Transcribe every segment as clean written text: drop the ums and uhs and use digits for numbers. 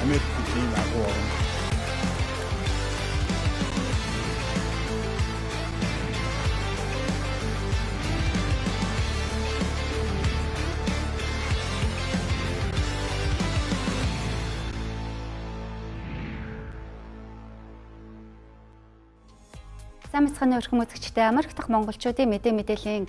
Америкийн агуу орн. Сайн мэцхан өрхөм үзэгчтэй Америк дахь монголчуудын мэдээллийн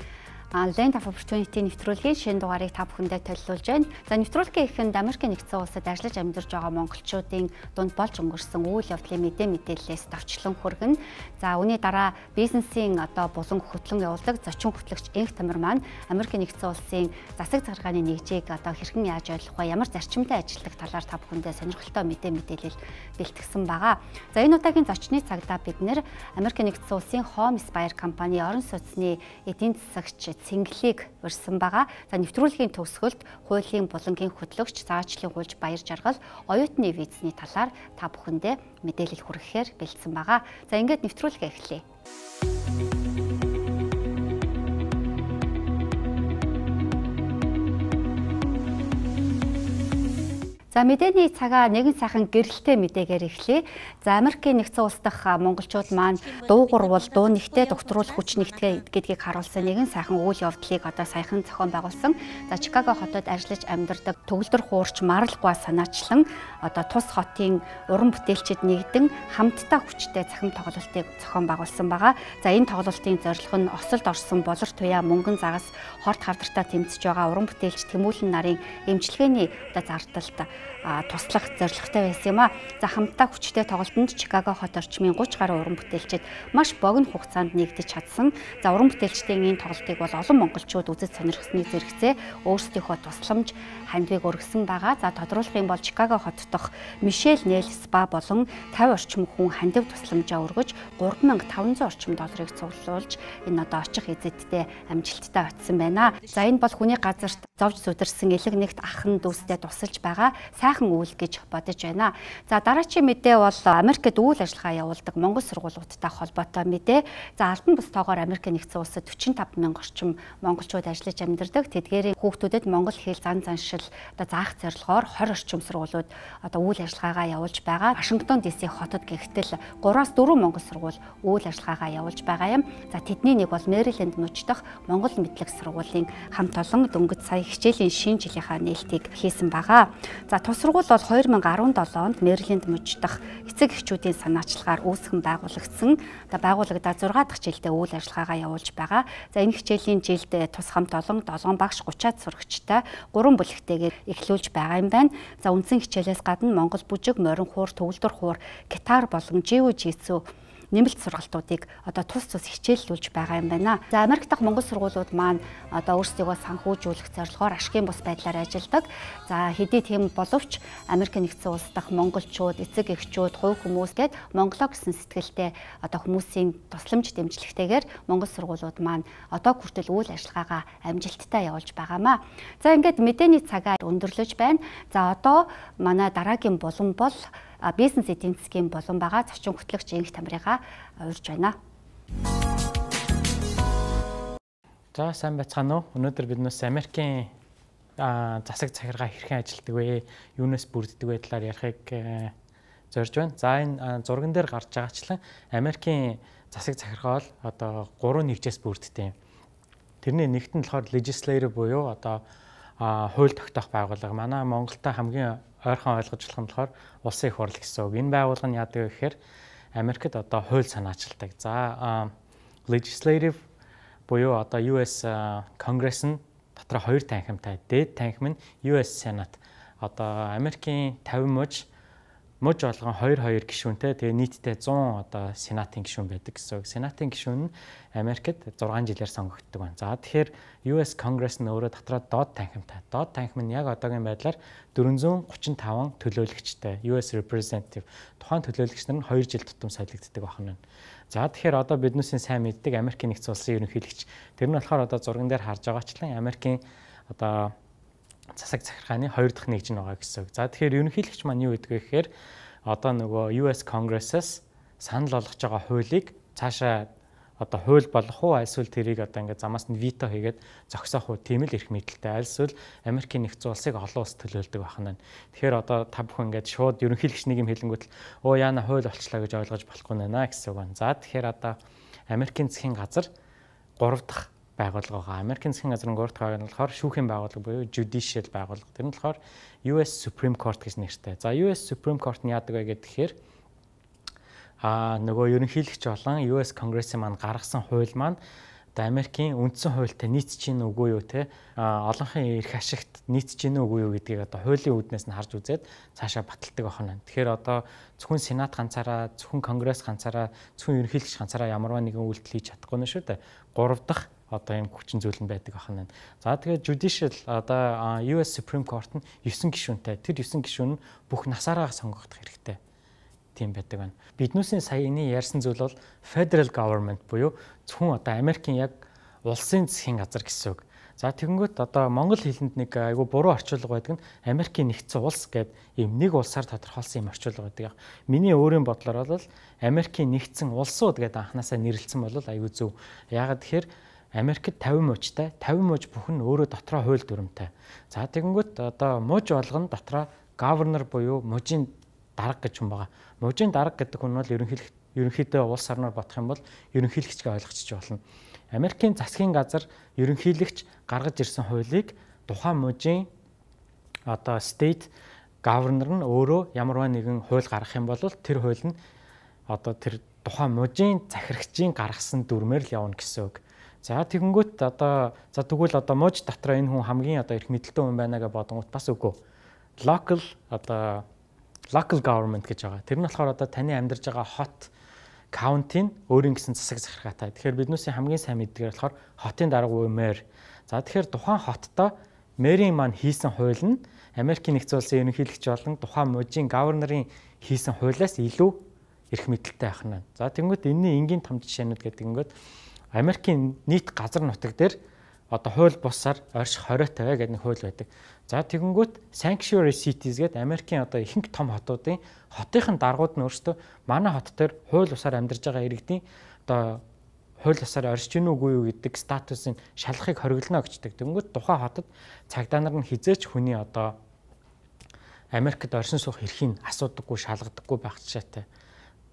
Land of Opportunity нэвтрүүлгийн шинэ дугаарыг та бүхэндээ төлөвлөж байна. За нэвтрүүлгийн эхэнд Америкийн нэгдсэн улсад ажиллаж амьдарч байгаа монголчуудын дунд болж өнгөрсөн үйл явдлын мэдээллээс товчлон хүргэн. За үүний дараа бизнесийн булан хөтлөн явуулдаг зочин хөтлөгч Энх Тамир маань Америкийн нэгдсэн улсын засаг захиргааны нэгжийг хэрхэн яаж ойлгох вэ? Ямар зарчимтай ажилладаг талаар та бүхэндээ сонирхолтой мэдээлэл бэлтгэсэн байгаа. За энэ удаагийн зочны цагдаа бид нэр Америкийн нэгдсэн улсын Home Spire компани орон сууцны эдийн засагч цэнгэлийг урьсан байгаа. За нэвтрүүлгийн төгсгөлд хуулийн булангийн хөтлөгч цаашлын гуйлж баяр жаргал оюутны визний талаар та бүхэндээ мэдээлэл хүргэхээр бэлдсэн байгаа. За ингээд нэвтрүүлгээ эхлэе. За мэдээний цагаа нэгэн сайхан гэрэлтэй мэдээгээр эхлэе. За Америкийн нэгдсэн улс дахь монголчууд маань дуу гурвал дуу нэгтээ докторуулах хүч нэгтгэ гэдгийг харуулсан нэгэн сайхан үйл явдлыг саяхан зохион байгуулсан. За Чикаго хотод ажиллаж амьдардаг төгөлдөр хуурч Маралгуа санаачлан тус хотын уран бүтээлчид нэгдэн хамтдаа хүчтэй цахим тоглолтыг зохион байгуулсан байгаа. За энэ тоглолтын зорилго нь осолд орсон болор туяа мөнгөн загас хорт хавдартаа тэмцэж байгаа уран бүтээлч Тэмүүлэн нарын эмчилгээний зардалд туслах зорилготой байсан юм а. За хамтдаа хүчтэй тоглолтод Чикаго хот орчмын 30 гаруй уран бүтээлчид маш богино хугацаанд нэгдэж чадсан. За уран бүтээлчдийн энэ тоглолтыг бол олон монголчууд үзэж сонирхсныг зэрэгцээ өөрсдийнхөө тусламж хандвыг өргөсөн байгаа. За тодруулах юм бол Чикаго хот дахь Мишель Нэл спа болон 50 орчим хүн хандив тусламжаа өргөж 3500 орчим долларыг цуглуулж энэ очих эзэдтэй амжилттай очсон байна. За энэ бол хүний газарт зовж зүдэрсэн элэг нэгт ахын дүүстэй тусалж байгаа сайхан үйл гэж бодож байна. За дараагийн мэдээ бол Америкт үйл ажиллагаа явуулдаг монгол сургуулиудтай холбоотой мэдээ. За албан бусдаагаар Америкийн нэгдсэн улсад 45 мянган орчим монголчууд ажиллаж амьдардаг. Тэдгээрийн хүүхдүүдэд монгол хэл зан заншил заах зорилгоор 20 орчим сургуулиуд үйл ажиллагаагаа явуулж байгаа. Вашингтон ДС хотод гэгтэл 3-4 монгол сургууль үйл ажиллагаагаа явуулж байгаа юм. За тэдний нэг бол Мэриленд мужид дахь монгол мэдлэг сургуулийн хамт олон дөнгөж сая хичээлийн шинэ жилийнхаа нээлтийг хийсэн байгаа. За тус сургууль бол 2017 онд Мэриленд мужид дахь эцэг эхчүүдийн санаачлагаар үүсгэн байгуулагдсан. Байгуулагдаад 6 дахь жилдээ үйл ажиллагаагаа явуулж байгаа. За энэ хичээлийн жилд тус хамт олон 7 багш 30-аад сурагчтай 3 бүлэгтэйгээр эхлүүлж байгаа юм байна. За үндсэн хичээлээс гадна Монгол бүжиг, морин хуур, төгөлдөр хуур, гитар болон жиу-житсу нэмэлт сургалтуудыг тус хичээллүүлж байгаа юм байна. За Америк дахь монгол сургуулиуд маань өөрсдийгөө санхүүжүүлэх зорилгоор ашигын бус байдлаар ажилладаг. За хэдий тийм боловч Америкийн нэгдсэн улс дахь монголчууд, эцэг эхчүүд, хувь хүмүүс гээд монголоо гэсэн сэтгэлтэй хүмүүсийн тусламж дэмжлэгтэйгээр монгол сургуулиуд маань хүртэл үйл ажиллагаагаа амжилттай явуулж байгаамаа. За ингээд мэдээний цагаа өндөрлөж байна. За манай дараагийн булан бол бизнес эдийн засгийн болон байгаа зочин хөтлөгч Энх Тамирыгаа урьж байна. За сайн байцгаана уу? Өнөөдөр биднээс Америкийн засаг захиргаа хэрхэн ажилладаг вэ? Юунаас бүрддэг вэ талаар ярихыг зорж байна. За энэ зурган дээр гарч байгаачлан Америкийн засаг захиргаа бол 3 нэгжээс бүрддэг юм. Тэрний нэгт нь болохоор legislative буюу хууль тогтоох байгууллага. Манай Монголтой хамгийн ойрхон ойлгож болох нь болохоор улсын их хурл гэсэн үг. Энэ байгууллага нь яадаг вэ гэхээр Америкт хууль санаачилдаг. За legislative буюу US Конгресс нь дотор 2 танхимтай. Дээд танхим нь US Senate. Америкийн 50 муж болгон 2 гишүүнтэй. Тэгээ нийтдээ 100 сенатын гишүүн байдаг гэсэн үг. Сенатын гишүүн нь Америкт 6 жилээр сонгогддог байна. За тэгэхээр US Congress нь өөрөө дотроо доод танхимтай. Доод танхим нь яг одоогийн байдлаар 435 төлөөлөгчтэй US Representative. Тухайн төлөөлөгч нар нь 2 жил тутам солигддог байна. За тэгэхээр биднээсийн сайн мэддэг Америкийн нэгдсэн улсын ерөнхийлөгч. Тэр нь болохоор зурган дээр харж байгаачлан Америкийн засаг захиргааны 2 дахь нэгж нь байгаа гэсэн үг. За тэгэхээр ерөнхийлөгч маань юу гэдэг вэ гэхээр US Congress-аас санал болгож байгаа хуулийг цаашаа одоо хууль болох уу эсвэл тэрийг одоо ингээд замаас нь вито хийгээд зогсоох уу тийм л эрх мэдэлтэй. Эсвэл Америкийн нэгдсэн улсыг олон улс төлөөлдөг байна. Тэгэхээр одоо та бүхэн ингээд шууд ерөнхийлөгч нэг юм хэлэнгүүт л яана хууль болчлаа гэж ойлгож болохгүй нэ гэсэн үг байна. За тэгэхээр одоо Америкийн засгийн газар 3 дахь байгууллага байгаа. Америкийн засгийн газрын 3 дахь байгууллага болохоор шүүхийн байгууллага буюу judicial байгууллага. Тэр нь болохоор US Supreme Court гэж нэртэй. За US Supreme Court нь яадаг вэ гэхээр нөгөө ерөнхийлөгч болон US Конгрессийн маань гаргасан хууль маань одоо Америкийн үндсэн хуультай нийцэж гин үгүй юу те олонхын эрх ашигт нийцэж гин үгүй юу гэдгийг одоо хуулийн үүднээс нь харж үзээд цаашаа баталдаг байна. Тэгэхээр одоо зөвхөн Сенат ганцаараа, зөвхөн Конгресс ганцаараа, зөвхөн ерөнхийлөгч ганцаараа ямарваа нэгэн үйлдэл хийж чадахгүй нь шүү дээ. 3 дахь одоо юм хүчин зүйл нь байдаг байна. За тэгээд judicial одоо US Supreme Court нь 9 гишүүнтэй. Тэр 9 гишүүн нь бүх насаараа сонгогдох хэрэгтэй. Тийм байдаг байна. Биднүүсийн саяны ярьсан зүйл бол federal government буюу зөвхөн одоо Америкийн яг улсын засгийн газар гэсэн үг. За тэгэнгүүт одоо монгол хэлэнд нэг айгүй буруу орчуулга байдаг нь Америкийн нэгдсэн улс гэдэг ийм нэг улсаар тодорхойлсон юм орчуулга байдаг. Миний өөрийн бодлоор бол Америкийн нэгдсэн улсууд гэдэг анханасаа нэрлэлсэн бол айгүй зөв. Яагаад тэгэхээр Америкт 50 мужтай, 50 муж бүхэн өөрөө дотроо хууль дүрмтэй. За тэгэнгүүт одоо муж болгоно дотроо governor буюу мужийн дарга гэж хүн байгаа. Мужийн дарга гэдэг хүн бол ерөнхийдөө улс орноор бодох юм бол ерөнхийлөгчгээ ойлгочих болно. Америкийн засгийн газар ерөнхийлөгч гаргаж ирсэн хуулийг тухайн мужийн одоо state governor нь өөрөө ямарваа нэгэн хууль гаргах юм бол тэр хууль нь одоо тэр тухайн мужийн захирагчийн гаргасан дүрмээр л явна гэсэн үг. За тэгэнгүүт одоо тэгвэл одоо муж дотроо энэ хүн хамгийн одоо эрх мэдэлтэй хүн байна гэж бодонгууд бас үгүй. Local government гэж байгаа. Тэр нь болохоор одоо таны амьдарч байгаа хот county нь өөрийн гэсэн засаг захиргаатай. Тэгэхээр биднүүсийн хамгийн сайн мэддгээр болохоор хотын дарга буюу мэр. За тэгэхээр тухайн хоттой мэрийн маань хийсэн хууль нь Америкийн нэгдсэн улсын ерөнхийлөгч болон тухайн мужийн governor-ын хийсэн хуулиас илүү эрх мэдэлтэй байх нь. За тэгэнгүүт энэний энгийн том жишээнүүд гэдэг ингээд Америкийн нийт газар нутаг дээр одоо хууль бусаар орших хориотой гэдэг нэг хууль байдаг. За тэгэнгүүт sanctuary cities гэдэг Америкийн одоо ихэнх том хотуудын хотынхын даргууд нь өөрсдөө манай хот дээр хууль бусаар амьдарч байгаа иргэдийн одоо хууль бусаар оршиж гин үгүй юу гэдэг статусын шалгахыг хориглоно гэждэг. Тэгэнгүүт тухайн хотод цагдаа нар нь хизээч хүний одоо Америкт оршин суух эрхийг асуудаггүй, шалгадаггүй байх жишээтэй.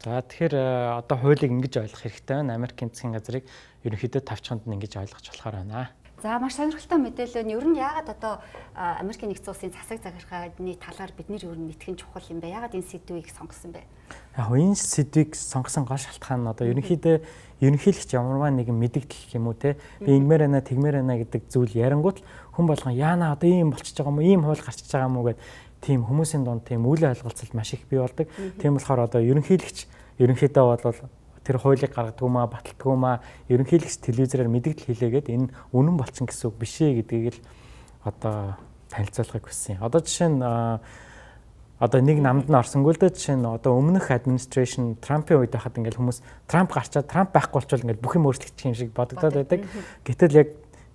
За тэгэхээр одоо хуулийг ингэж ойлгох хэрэгтэй байна. Америкийн засгийн газрыг ерөнхийдөө тавчханд нь ингэж ойлгож болохоор байна. За маш сонирхолтой мэдээлэл нь ер нь яагаад одоо Америкийн нэгдсэн улсын засаг захиргааны талаар бид нэр ер нь мэдхэн чухал юм бэ? Яагаад энэ сэдвийг сонгосон бэ? Яг энэ сэдвийг сонгосон гол шалтгаан нь одоо ерөнхийдөө ерөнхийлөгч ямарваа нэгэн мэдэгдэл юм уу те би ингэмээр байна тэгмээр байна гэдэг зүйл ярингуут хүн болгон яана одоо ийм болчихж байгаа юм уу ийм хууль гарчиж байгаа юм уу гэд тийм хүмүүсийн дунд тийм үйл ойлголцол маш их бий болдог. Тийм болохоор одоо ерөнхийлөгч ерөнхийдөө бол тэр хуулийг гаргадаг юм аа баталдаг юм аа ерөнхийлөгч телевизээр мэдээлэл хийлээгээд энэ үнэн болчихсон гэсэн үг биш ээ гэдгийг л одоо танилцуулахыг хүссэн. Одоо жишээ нь одоо нэг намд нь орсонгүй л дээ жишээ нь одоо өмнөх administration Трампын үед байхад ингээл хүмүүс Трамп гарчаад Трамп байхгүй болчвол ингээл бүх юм өөрчлөгдчих юм шиг бодогдоод байдаг. Гэтэл яг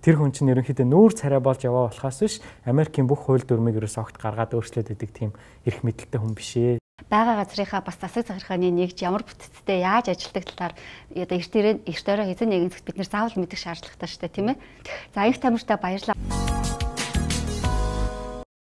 тэр хүн чинь ерөнхийдөө нүүр царай болж яваа болохоос биш Америкийн бүх хууль дүрмийг ерөөс огт гаргаад өөрчлөөд байдаг тийм эрх мэдэлтэй хүн биш ээ. Бага газрынхаа бас засаг захиргааны нэгж ямар бүтцтэй яаж ажилладаг талаар одоо эрт өрөө хэзээ нэгэн цагт бид нэр заавал мэдэх шаардлагатай шүү дээ тийм ээ. За их тамиртай баярлалаа.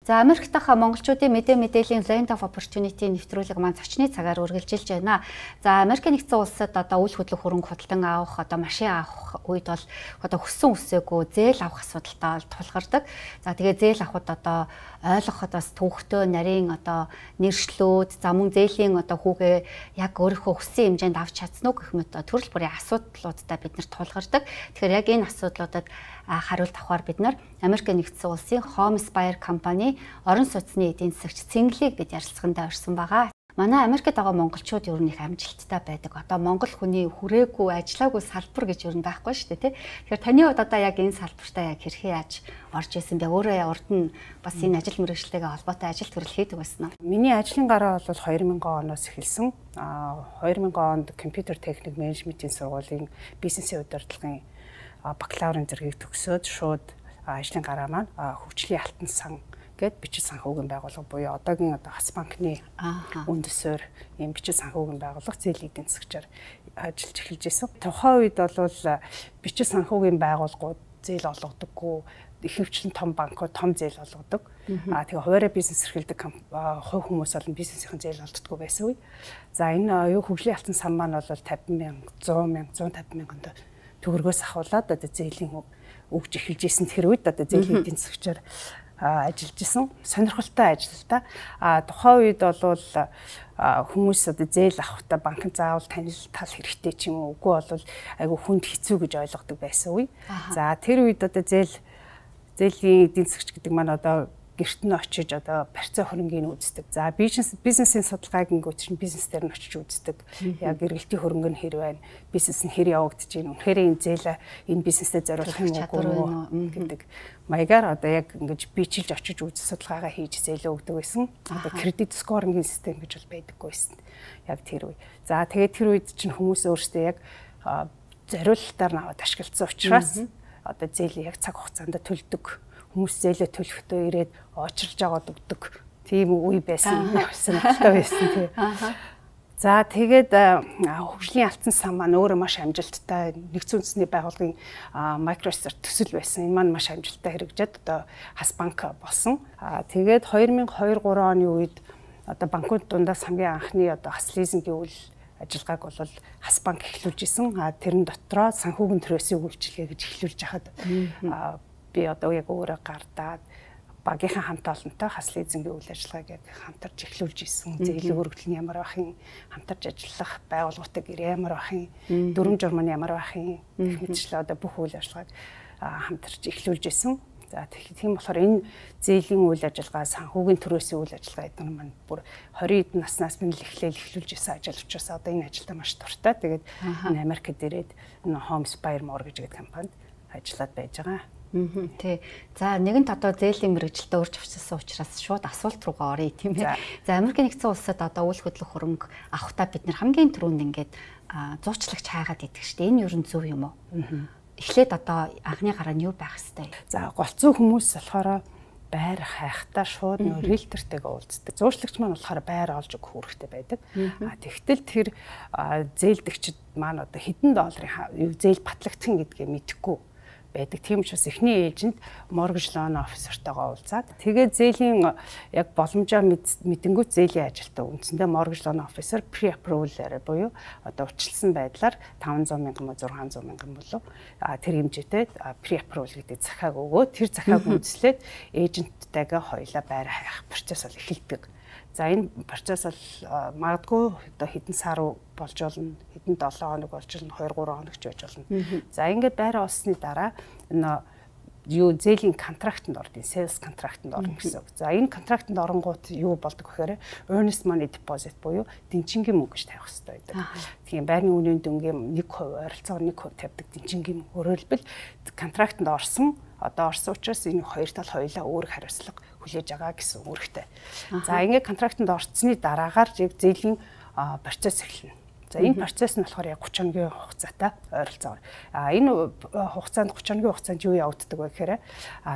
За Америкт хаа монголчуудын мэдээллийн land of opportunity нэвтрүүлэг маань зочны цагаар үргэлжилж байна. За Америкийн нэгдсэн улсад одоо үйл хөдлөх хөрөнгө худалдан авах одоо машин авах үед бол одоо хүссэн үсээгүй зээл авах асуудалтай тулгардаг. За тэгээ зээл авахд одоо ойлгоход бас төвхтөө нарийн одоо нэршлүүд за мөн зээлийн одоо хүүгээ яг өөрийнхөө хүссэн хэмжээнд авч чадсан уу гэх мэт төрөл бүрийн асуудлуудтай бид нарт тулгардаг. Тэгэхээр яг энэ асуудлуудад хариулт авахар бид нар Америкийн нэгдсэн улсын Homespire компани орон сууцны эдийн засагч Цэнгэлэг гэж ярилцлаганд орсон байгаа. Манай Америкт байгаа монголчууд ер нь их амжилттай байдаг. Одоо монгол хүний хүрээгүй, ажиллаагүй салбар гэж ер нь байхгүй шүү дээ, тий. Тэгэхээр таны хувьд одоо яг энэ салбартаа яг хэрхэн яаж орж исэн бэ? Өөрөө урд нь бас энэ ажил мэргэжлтэйгээ холбоотой ажил төрөл хийдэг байсан уу? Миний ажлын гараа бол 2000 оноос эхэлсэн. 2000 онд компьютер техник менежментийн сургуулийн бизнесийн удирдлагын бакалаврын зэргийг төгсөөд шууд ажлын гараа маань хөгжлийн алтан сан гэд бичиг санхүүгийн байгууллага буюу одоогийн Хас банкны үндэсээр ийм бичиг санхүүгийн байгууллага зээлийн эдийн засгчаар ажиллаж эхэлж байсан. Тухайн үед бол бичиг санхүүгийн байгууллагууд зээл олгодоггүй, ихэвчлэн том банкуд том зээл олгодог. Тэгээ хуваарь бизнес эрхэлдэг хувь хүмүүс болон бизнесийн зээл олддоггүй байсан үе. За энэ хөгжлийн алтан сан маань бол 50,000, 100,000, 150,000 төгрөгөөс ахуулаад зээлийн өгж эхэлж исэн тэр үед зээлийн эдийн засгчаар ажиллаж исэн. Сонирхолтой ажил та. Тухайн үед бол хүмүүс зээл авахдаа банкнд заавал танилцал хэрэгтэй ч юм уу, үгүй бол айгүй хүнд хэцүү гэж ойлгодог байсан үе. За тэр үед зээлийн эдийн засгч гэдэг маань гэрт нь очиж барьцаа хөрөнгийг үздэг. За бизнесийн судалгааг ингээд чинь бизнес дээр нь очиж үздэг. Яг эргэлтийн хөрөнгө нь хэр байна? Бизнес нь хэр явагдаж байна? Үнэхээр энэ зээл энэ бизнестэй зориулах юм уу гэдэг маягаар яг ингэж бичилж очиж үзэх судалгаагаа хийж зээлээ өгдөг байсан. Кредит скорингийн систем гэж бол байдаггүй байсан. Яг тэр үе. За тэгээд тэр үед чинь хүмүүс өөрсдөө яг зориулалтаар наваад ашигласан учраас зээлээ яг цаг хугацаанд төлдөг. Хүмүүс зээлээ төлөхдөө ирээд очирж аваад өгдөг. Тийм үе байсан. Сонирхолтой байсан тий. За тэгээд хөгжлийн алтан сан маань өөрөө маш амжилттай нэгдсэн үндэсний байгууллагын Microsoft төсөл байсан. Энэ маань маш амжилттай хэрэгжээд Хас банк болсон. Тэгээд 2002-3 оны үед банкуд дундаас хамгийн анхны Хас лизингийн үйл ажиллагааг бол Хас банк эхлүүлж исэн. Тэрэн дотроо санхүүгийн төрөөсийн үйлчилгээ гэж эхлүүлж хахад би яг өөрөө гардаад багийнхаа хамт олонтой Хас лизингийн үйл ажиллагааг яг хамтарч эхлүүлж исэн. Зээлийн өргөдөл нь ямар бахын, хамтарч ажиллах байгууллагатай гэр ямар бахын, дүрм журм нь ямар бахын гэх мэтчлээ бүх үйл ажиллагааг хамтарч эхлүүлж исэн. За тийм болохоор энэ зээлийн үйл ажиллагаа, санхүүгийн төрөөсийн үйл ажиллагаа гэдэг нь маань бүр 20 эд наснаас минь эхлүүлж исэн ажил учраас энэ ажилдаа маш дуртай. Тэгээд энэ Америкт ирээд Homespire Mortgage гэдэг компанид ажиллаад байж байгаа. Тий. За нэгэнт зээлийн мэргэжилтэд урьж авчирсан учраас шууд асуулт руугаа оръё тийм ээ. За Америкийн нэгдсэн улсад үйл хөдлөх хөрөнгө авахдаа бид нэр хамгийн түрүүнд ингээд зуучлагч хайгаад идэг шүү дээ. Энэ юу зөв юм уу? Эхлээд анхны гараа нь юу байх хэвтэй? За голцоо хүмүүс болохоор байр хайхтаа шууд риэлтортэйгээ уулздаг. Зуучлагч маань болохоор байр олж өгөх үүрэгтэй байдаг. Тэгтэл тэр зээлдэгчд маань хэдэн долларын зээл батлагдсан гэдгээ мэдэхгүй байдаг. Тийм учраас эхний эйжент mortgage loan officer-тойгоо уулзаад тэгээд зээлийн яг боломжоо мэдэнгүүт зээлийн ажилтаа үндсэндээ mortgage loan officer pre-approval-аар буюу урьдчилсан байдлаар 500,000 мөн 600,000 болов тэр хэмжээтэй pre-approval гэдэг захааг өгөө тэр захааг үндэслээд эйженттайгаа хоёулаа байр хайх процесс бол эхэлдэг. За энэ процесс бол магадгүй хэдэн сар болж болно, хэдэн 7 хоног болж болно, 2-3 хоног ч байж болно. За ингээд байраа олсны дараа зээлийн контрактанд ордын, sales контрактанд орно гэсэн үг. За энэ контрактанд оронгууд юу болдог гэхээр earnest money deposit буюу дэнчингийн мөнгө гэж тавих хэрэгтэй байдаг. Тийм байрны үнийн дүнгийн 1% ойролцоогоор 1% тавьдаг дэнчингийн мөнгө. Өөрөөр хэлбэл контрактанд орсон учраас энэ хоёр тал хоёулаа өөр хариуцлага хүлээж байгаа гэсэн үүрэгтэй. За ингээд контрактанд орцсны дараагаар зээлийн процесс эхэлнэ. За энэ процесс нь болохоор яг 30 хоногийн хугацаатай ойролцоогоор. Энэ хугацаанд 30 хоногийн хугацаанд юу явагддаг вэ гэхээр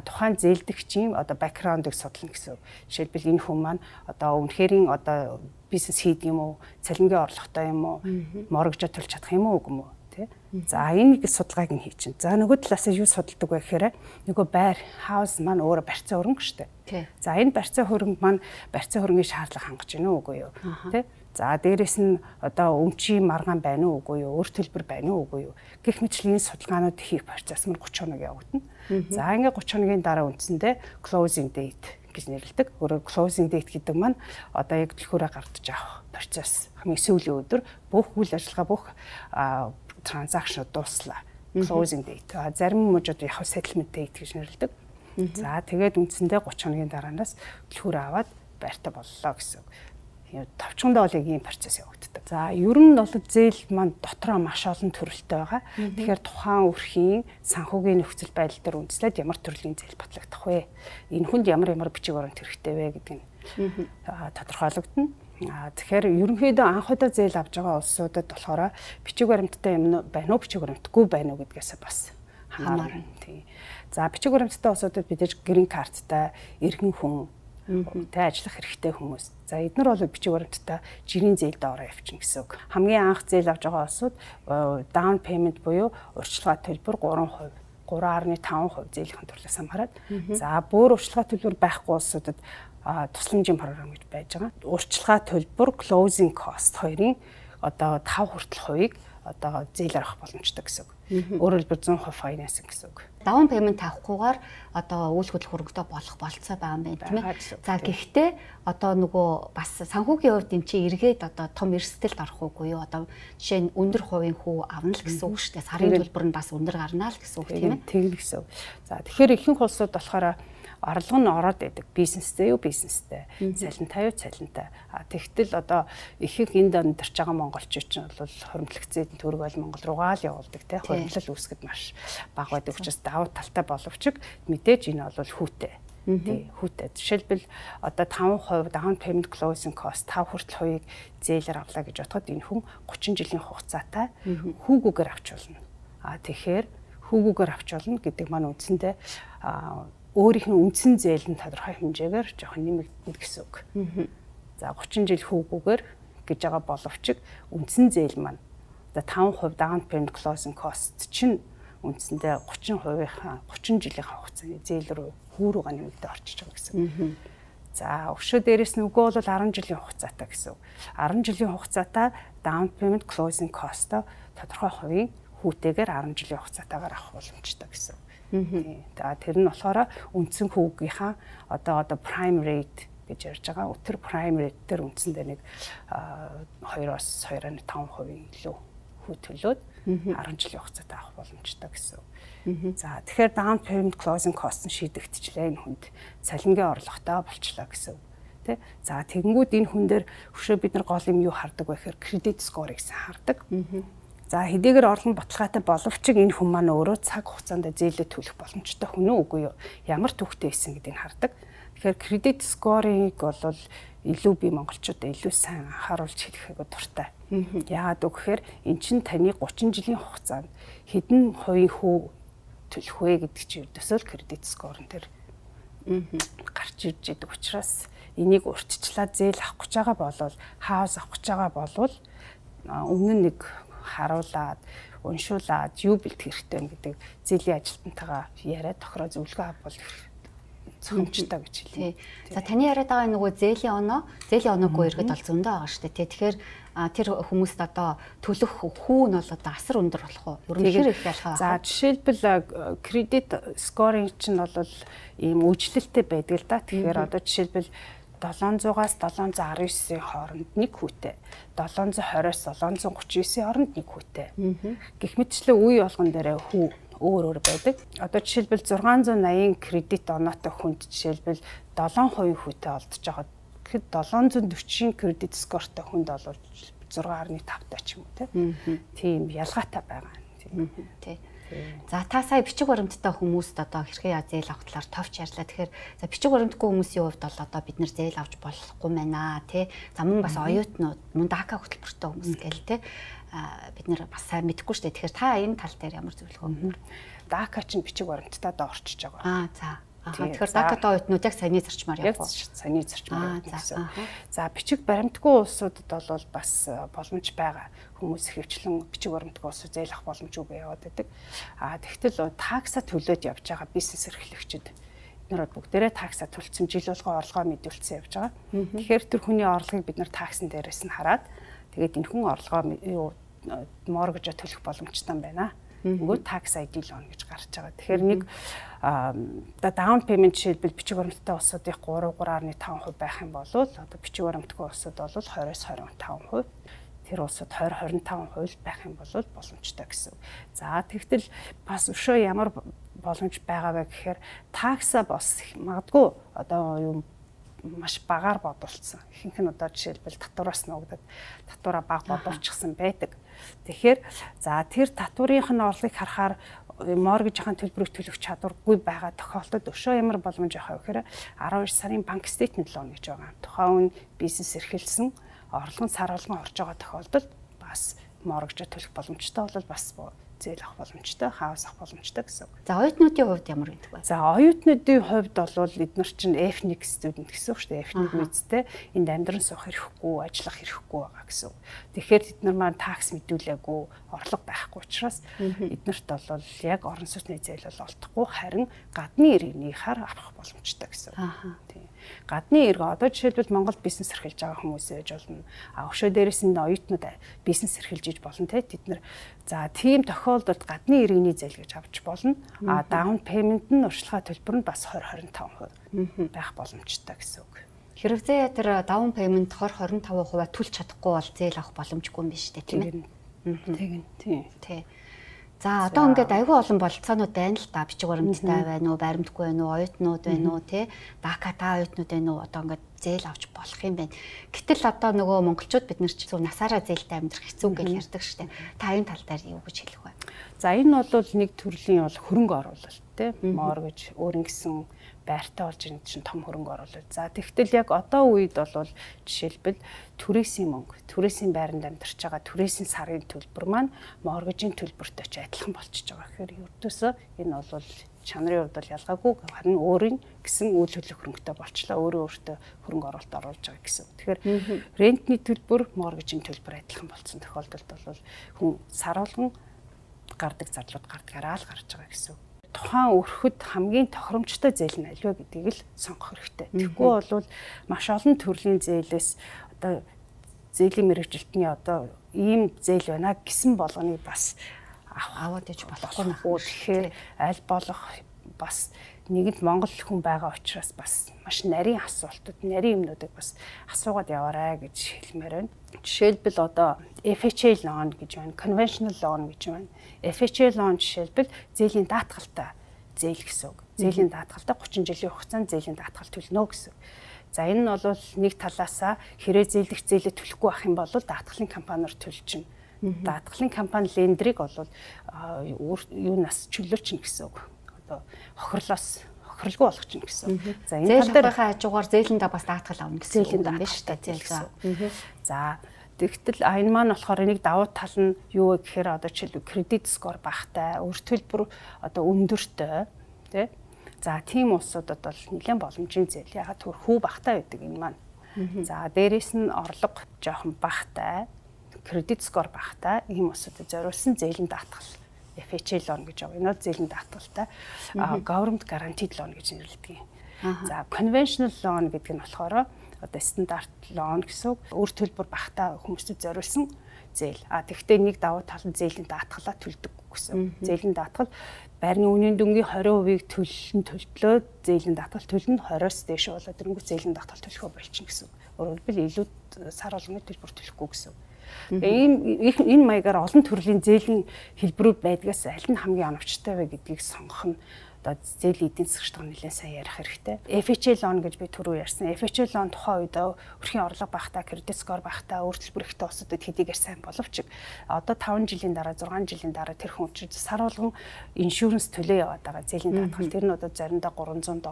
тухайн зээлдэгчийн бэкграундыг судлана гэсэн. Жишээлбэл энэ хүн маань үнэхэрийн бизнес хийдэг юм уу, цалингийн орлоготой юм уу, моргожоо төлж чадах юм уу үгүй юм уу? За энэ судалгааг нь хийчин. За нөгөө талаас юу судалдаг вэ гэхээр нөгөө байр хаус маань өөрөө барьцаа хөрөнгө шүү дээ. За энэ барьцаа хөрөнгө маань барьцаа хөрөнгийн шаардлага хангаж байна уу үгүй юу? Тэ? За дээрэс нь өмчийн маргаан байна уу үгүй юу? Өөр төлбөр байна уу үгүй юу? Гэх мэтчлэн судалгаанууд хийх процесс маань 30 хоног явагдана. За ингээд 30 хоногийн дараа үндсэндээ closing date гэж нэрлэдэг. Өөрөөр closing date гэдэг маань яг төлхөөрөө гардаж авах процесс. Хамгийн сүүлийн өдөр бүх үйл ажиллагаа бүх транзакшн дууслаа. Closing date. Зарим мужууд яг settlement date гэж нэрлэдэг. За тэгээд үндсэндээ 30 хоногийн дараанаас төлхөөрөө аваад байртаа боллоо гэсэн. Товчгондоо бол ийм процесс явагддаг. За ер нь бол зээл маань дотроо маш олон төрөлтэй байгаа. Тэгэхээр тухайн өрхийн санхүүгийн нөхцөл байдал дээр үндэслээд ямар төрлийн зээл батлагдах вэ? Энэ хүнд ямар бичиг баримт хэрэгтэй вэ гэдэг нь тодорхойлогдно. Тэгэхээр ерөнхийдөө анх удаа зээл авж байгаа улсуудад болохоор бичиг баримттай юм байна уу, бичиг баримтгүй байна уу гэдгээс бас хамаарна. Тийм. За бичиг баримттай улсуудад бид грин карттай иргэн хүн тэ ажиллах хэрэгтэй хүмүүс. За эдгээр бол бичиг баримттай жирийн зээлд ороо явчихна гэсэн үг. Хамгийн анх зээл авж байгаа улсууд down payment буюу урьдчилгаа төлбөр 3.5% зээлийн төрлөөс хамаарат. За бүр урьдчилгаа төлбөр байхгүй улсуудад тусламжийн програм гэж байж байгаа. Урьдчилгаа төлбөр closing cost хоёрын одоо 5 хүртэл хувийг одоо зээлээр авах боломжтой гэсэн үг. Өөрөөр хэлбэл 100% finance гэсэн үг. Down payment авахгүйгээр одоо үйл хөдлөх хөрөнгөтэй болох болцоо байгаа юм байна тийм ээ. За гэхдээ одоо нөгөө бас санхүүгийн хувьд эм чи эргээд одоо том эрсдэлд орох уугүй юу? Одоо жишээ нь өндөр хувийн хүү авна л гэсэн үг шүү дээ. Сарын төлбөр нь бас өндөр гарна л гэсэн үг тийм ээ. Тийм гэсэн үг. За тэгэхээр ихэнх улсууд болохоор орлого нь ороод байдаг. Бизнестэй юу бизнестэй, цалинтай юу цалинтай. Тэгтэл одоо ихэнх энд амьдарч байгаа монголчууд ч бол хоримтлогцын төгрөг ойл Монгол руугаа л явуулдаг тийм хоримтлал үүсгэд маш бага байдаг учраас давуу талтай боловч мэдээж энэ бол хүүтэй. Тийм хүүтэй. Жишээлбэл одоо 5% down payment closing cost 5 хүртэл хувийг зээлээр авлаа гэж бодоход энэ хүн 30 жилийн хугацаатай хүүгүүгээр авч болно. Тэгэхээр хүүгүүгээр авч болно гэдэг маань үндсэндээ өөрийнх нь үндсэн зээл нь тодорхой хэмжээгээр жоохон нэмэгдэнэ гэсэн үг. За 30 жил хүүгүүгээр гэж байгаа боловч үндсэн зээл маань одоо 5% down payment closing cost чинь үндсэндээ 30 жилийн хугацааны зээл рүү хүүрүүгээ нэмэгдээ орчиж байгаа гэсэн. За өшөө дээрээс нь үгүй бол 10 жилийн хугацаатай гэсэн. 10 жилийн хугацаатай down payment closing cost тодорхой хувийн хүүтэйгээр 10 жилийн хугацаатаагаар авах боломжтой гэсэн. За тэр нь болохоор үндсэн хүүгийнхаа одоо prime rate гэж ярьж байгаа. Өтөр prime rate дээр үндсэндээ нэг 2-2.5% илүү хүү төлөөд 10 жилийн хугацаатай авах боломжтой гэсэн. За тэгэхээр down payment closing cost нь шийдэгдчихлээ энэ хүнд. Цалингийн орлоготой болчлаа гэсэн. Тэ? За тэгэнгүүт энэ хүн дээр өшөө бид нар гол юм юу хардаг вэ гэхээр credit score гэсэн хардаг. За хэдийгээр орлон баталгаатай боловч энэ хүн маань өөрөө цаг хугацаанд зээлээ төлөх боломжтой хүн үү үгүй юу? Ямар түүхтэй байсан гэдгийг хардаг. Тэгэхээр credit score-ыг бол илүү бие монголчуудаа илүү сайн анхааруулж хэлэхэд дуртай. Яагаад гэвэл эн чинь таны 30 жилийн хугацаанд хэдэн хувийн хүү төлөх вэ гэдэг чинь ердөөсөө credit score-н тэр гарч ирж идэг учраас энийг урьдчилаад зээл авах гэж байгаа болвол хаус авах гэж байгаа болвол өмнө нь нэг харуулад уншуулад юу бэлтгэх хэрэгтэй гэдэг зээлийн ажилтнтайгаа яриад тохироо зөвлөгөө авбал зөвхөмжтэй гэж хэлээ. За таны яриад байгаа нөгөө зээлийн оноогүй иргэд бол зөндөө байгаа шүү дээ. Тэгэхээр тэр хүмүүст одоо төлөх хүү нь бол одоо асар өндөр болох уу? Ер нь хэр их ялгаа? За жишээлбэл кредит скоринг чинь бол ийм үжлэлтэй байдаг л да. Тэгэхээр одоо жишээлбэл 700-аас 719-ийн хооронд нэг хүүтэй, 720-аас 739-ийн хооронд нэг хүүтэй. Гэх мэтчлэн үе болгон дээрээ хүү өөр байдаг. Одоо жишээлбэл 680 кредит оноотой хүнд жишээлбэл 7% хүүтэй олдож байгаа. Тэгэхэд 740-ийн кредит скортой хүнд бол 6.5-тай ч юм уу тийм ялгаатай байгаа. Тийм. За та сая бичиг баримттай хүмүүст одоо хэрхэн зээл авах талаар товч ярьлаа. Тэгэхээр за бичиг баримтгүй хүмүүсийн хувьд бол одоо бид нэр зээл авч болохгүй байна тий. За мөн бас оюутнууд, мөн дака хөтөлбөртэй хүмүүс гээл тий. Бид нэр бас сайн мэдэхгүй шүү дээ. Тэгэхээр та энэ тал дээр ямар зөвлөгөө өгөх вэ? Дака чинь бичиг баримттай орчиж байгаа. За. Тэгэхээр дакатай оюутнууд яг саяны зарчмаар явах. Саяны зарчмаар гэсэн. За бичиг баримтгүй улсуудад бол бас боломж байгаа. Хүмүүс хөвчлэн бичиг баримтгүй улсууд зээл авах боломжгүй яваад байдаг. Тэгтэл такса төлөөд явж байгаа бизнес эрхлэгчид нэрод бүгдээрээ такса төлсөн жил болгоо орлогоо мэдүүлсэн явж байгаа. Тэгэхээр тэр хүний орлогыг бид нар таксын дээрээс нь хараад тэгээд энэ хүн орлогоо моргэж төлөх боломжтой юм байна. Нөгөө tax ID loan гэж гарч байгаа. Тэгэхээр нэг down payment жишээлбэл бичиг баримттай улсуудын 3.5% байх юм бол одоо бичиг баримтгүй улсууд бол 20-25%, тэр улсууд 20-25% байх юм бол боломжтой гэсэн. За тэгтэл бас өшөө ямар боломж байгаа вэ гэхээр такса бас магадгүй одоо юм маш багаар бодулсан. Ихэнх нь одоо жишээлбэл татвараас нуугдаад татвараа бага бодулчихсан байдаг. Тэгэхээр за тэр татврынх нь орлогыг харахаар моргижийн төлбөрийг төлөх чадваргүй байгаа тохиолдолд өшөө ямар боломж авах вэ гэхээр 12 сарын банк стейтмент лон гэж байгаа. Тухайн бизнес эрхэлсэн орлого нь сар болгон орж байгаа тохиолдолд бас моргиж төлөх боломжтой бол бас зээл авах боломжтой, хаус авах боломжтой гэсэн үг. За оюутнуудын хувьд ямар гэдэг вэ? За оюутнуудын хувьд бол эдгээр чинь F1 студент гэсэн үг шүү дээ. F1 мэдтэй энд амьдран суух хэрэггүй, ажиллах хэрэггүй байгаа гэсэн үг. Тэгэхээр бид нар маань такс мэдүүлээгүй, орлого байхгүй учраас эднэрт бол яг орон сууцны зээл бол олдохгүй, харин гадны иргэнийхаар авах боломжтой гэсэн үг. Тийм. Гадны иргэн одоо жишээлбэл Монголд бизнес эрхэлж байгаа хүмүүс ээж болно. Өшөө дээрээс нь оюутнууд бизнес эрхэлж иж болно те. Тэд нар за тийм тохиолдолд гадны иргэний зээл гэж авч болно. Даун пеймент нь урьдчилгаа төлбөр нь бас 20-25% байх боломжтой гэсэн үг. Хэрвээ тэр даун пеймент 20-25% төлж чадахгүй бол зээл авах боломжгүй юм биш үү тийм ээ? Тийм. За одоо ингээд айгүй олон бололцоонууд байна л та. Бичиг баримттай байна уу, баримтгүй байна уу, оюутнууд байна уу, тий? ДАКА та оюутнууд байна уу? Одоо ингээд зээл авч болох юм байна. Гэтэл одоо нөгөө монголчууд бид нар ч зөв насаараа зээлтэй амьдрах хэцүү гэж ярьдаг штеп. Та энэ тал дээр юу гэж хэлэх вэ? За энэ бол нэг төрлийн бол хөрөнгө оруулалт тий? Моргэж өөрийн гэсэн байртай болж ирэх чинь том хөрөнгө оруулалт. За тэгтэл яг одоо үед бол жишээлбэл түрээсийн мөнгө, түрээсийн байранд амьдарч байгаа түрээсийн сарын төлбөр маань моргежийн төлбөртэй ч адилхан болчихж байгаа. Тэгэхээр ердөөсөө энэ бол чанарын хувьд бол ялгаагүй харин өөрийн гэсэн үйл хөдлөх хөрөнгөтэй болчлаа. Өөртөө хөрөнгө оруулалт оруулж байгаа гэсэн. Тэгэхээр рентний төлбөр, моргежийн төлбөр адилхан болсон тохиолдолд бол хүн сар болгон гардаг зарлууд гардагаараа л гарч байгаа гэсэн. Тухайн өрхөд хамгийн тохиромжтой зээл нь альва гэдгийг л сонгох хэрэгтэй. Тэгэхгүй бол маш олон төрлийн зээлээс одоо зээлийн мэргэжилтний одоо ийм зээл байна гэсэн болгоныг бас аваад иж болохгүй нөхөө. Тэгэхээр аль болох бас нэгэнт Монгол хүн байгаа учраас бас маш нарийн асуултууд, нарийн юмнуудыг бас асуугаад яваарай гэж хэлмээр байна. Жишээлбэл одоо FHA loan гэж байна, conventional loan гэж байна. FHA loan жишээлбэл зээлийн даатгалтай зээл гэсэн үг. Зээлийн даатгалтай 30 жилийн хугацаанд зээлийн даатгал төлнө гэсэн. За энэ нь бол нэг талаасаа хэрэг зээлдэх зээлээ төлөхгүй байх юм бол даатгалын компаниар төлчихнэ. Даатгалын компани лендрийг бол юунаас чөлөөлчихнэ гэсэн үг. Одоо хохирлгүй болгочихно гэсэн. За энэ тал дээр хажуугаар зээлэндээ бас даатгал авна гэсэн үг юм биш үү зээл гэсэн. За тэгтэл энэ маань болохоор нэг давуу тал нь юу вэ гэхээр одоо жишээлбэл кредит скор багтай, өр төлбөр одоо өндөртэй тий. За тийм улсуудад бол нэлээд боломжийн зээл ягаад түр хүү багтай байдаг энэ маань. За дээрэс нь орлого жоохон багтай, кредит скор багтай ийм улсуудад зориулсан зээлийн даатгал FHA loan гэж байгаа. Энэ бол зээлийн даатгалтай government guaranteed loan гэж нэрлэдэг юм. За conventional loan гэдэг нь болохоор одоо стандарт loan гэсэн өр төлбөр багтай хүмүүсд зориулсан зээл. Тэгвэл нэг давуу тал нь зээлийн даатгалаа төлдөг гэсэн. Зээлийн даатгал байрны үнийн дүнгийн 20%-ийг төлөлөө зээлийн даатгал төлнө 20-оос дээш болоод ирэнгүүт зээлийн даатгал төлөхөө болчихно гэсэн. Өөрөөр хэлбэл илүү сар болгоны төлбөр төлөхгүй гэсэн. Энэ маягаар олон төрлийн зээлийн хэлбэрүүд байдгаас аль нь хамгийн оновчтой вэ гэдгийг сонгох нь одоо зээлийн эдийн засгчдаа нэлээд сайн ярих хэрэгтэй. FHA loan гэж би түрүү ярьсан. FHA loan тухайн үед өрхийн орлого багтаа, кредит скор багтаа, өр төлбөр ихтэй улсуудад хэдийгээр сайн боловч одоо 5 жилийн дараа, 6 жилийн дараа тэр хүн чинь сар болгон иншүрэнс төлөө яваад байгаа. Зээлийн даатгал тэр нь одоо заримдаа $300,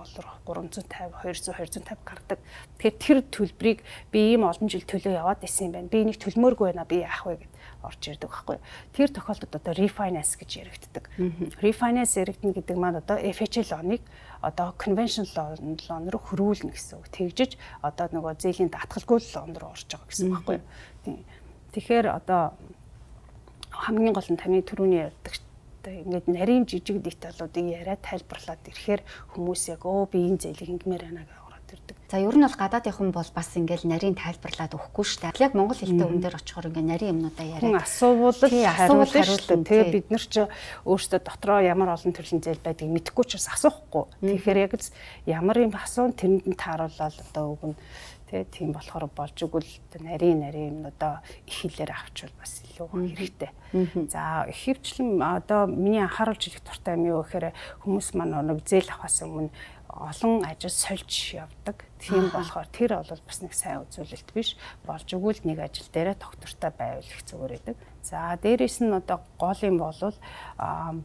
350, 200, 250 гардаг. Тэгэхээр тэр төлбөрийг би ийм олон жил төлөө яваад исэн юм байна. Би энийг төлмөөргүй байна. Би яах вэ гэд орж ирдэг байхгүй. Тэр тохиолдолд одоо refinance гэж яригддаг. Refinance яригдана гэдэг маань одоо FHA loan-ыг одоо conventional loan руу хөрвүүлнэ гэсэн үг. Тэгжиж одоо нөгөө зээлийн даатгалгүй loan руу орж байгаа гэсэн үг байхгүй. Тэгэхээр одоо хамгийн гол нь таны түрүүний ярьдаг ингээд нарийн жижиг деталуудыг яриад тайлбарлаад ирэхээр хүмүүс яг би энэ зээлийг ингэмээр байна гэж ороод ирдэг. За ер нь бол гадаад хүн бол бас ингээл нарийн тайлбарлаад өгөхгүй шүү дээ. Яг монгол хэлтэй хүн дээр очихоор ингээ нарийн юмнуудаа яриад. Хүн асуувал хариулна. Тэгээ бид нар ч өөрсдөө дотроо ямар олон төрлийн зээл байдгийг мэдэхгүй ч бас асуухгүй. Тэгэхээр яг ямар юм асуун тэрэнд нь тааруулаад одоо өгнө. Тийм болохоор болж игэл нарийн юмнуудаа их хэлээр авчвал бас илүү хэрэгтэй. За ихэвчлэн одоо миний анхааруулж ирэх дуртай юм юу гэхээр хүмүүс маань нэг зээл авахаас өмнө олон ажил сольж явдаг. Тийм болохоор тэр бол бас нэг сайн үзүүлэлт биш. Болж игэл нэг ажил дээрээ доктортой байвал их зүгээр байдаг. За дээрээс нь одоо гол юм бол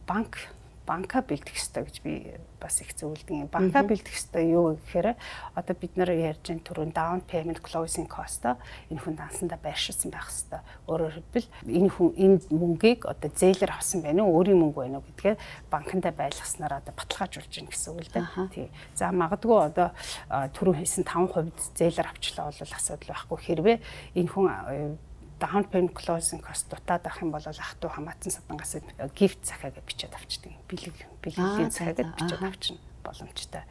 банк банка бэлдэх ёстой гэж би бас их зөвлөдөг юм. Банка бэлдэх ёстой юу гэхээр одоо бид нар ярьж байгаа түрүүн down payment closing cost энэ хүн дансандаа байршуулсан байх ёстой. Өөрөөр хэлбэл энэ хүн энэ мөнгийг одоо зээлэр авсан байна уу, өөрийн мөнгө байна уу гэдгээ банкндаа байлгаснараа одоо баталгаажуулж гин гэсэн үг л дээ. Тий. За магадгүй одоо түрүүн хэлсэн 5% зээлэр авчлаа бол асуудал байхгүй. Хэрвээ энэ хүн down payment closing cost дутаад авах юм бол ах トゥ хамаатан садангаас gift захиагаа бичээд авчдаг. Бэлгийн захиагаа бичээд авчна боломжтой.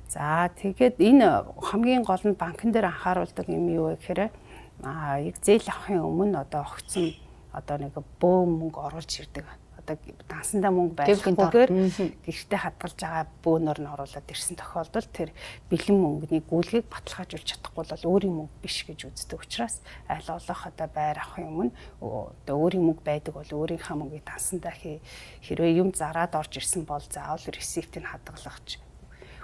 За тэгээд энэ хамгийн гол нь банкн дээр анхааруулдаг юм юу вэ гэхээр яг зээл авахын өмнө одоо огцсон одоо нэг бөө мөнгө оруулж ирдэг. Одоо дансандаа мөнгө байхгүйгээр гэртээ хадгалж байгаа бөөнөр нь оруулаад ирсэн тохиолдолд тэр бэлэн мөнгөний гүйлгийг баталгаажуулж чадахгүй бол өөрийн мөнгө биш гэж үздэг учраас аль олох одоо байр авахын өмнө одоо өөрийн мөнгө байдаг бол өөрийнхөө мөнгийг дансандаа хэрвээ юм зараад орж ирсэн бол заавал ресиптийг хадгалах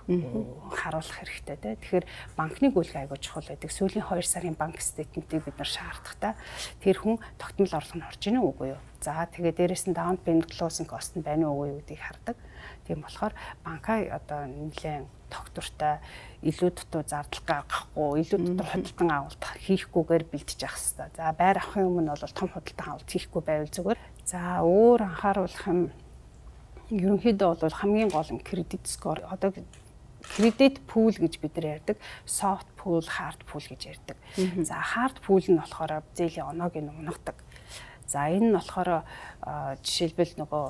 харуулах хэрэгтэй тий. Тэгэхээр банкны гүйлгээ айгуу чухал байдаг. Сүүлийн 2 сарын банк стейтментийг бид нар шаардахтаа тэр хүн тогтмол орлого нь орж ийн үгүй юу. За тэгээд дээрэс нь down payment closing cost нь байна уу үгүй юу гэдгийг хардаг. Тийм болохоор банка одоо нэлээд тогтвортой илүү дутуу зардал гаргахгүй, илүү дутуу худалдан авалт хийхгүйгээр бэлдэж явах хэрэгтэй. За байр авахын өмнө бол том худалдан авалт хийхгүй байвал зүгээр. За өөр анхааруулах юм ерөнхийдөө бол хамгийн гол нь кредит скор. Одоо кредит пул гэж бид нар ярьдаг, soft pool, hard pool гэж ярьдаг. За hard pool нь болохоор зээлийн оноог нь унагадаг. За энэ нь болохоор жишээлбэл нөгөө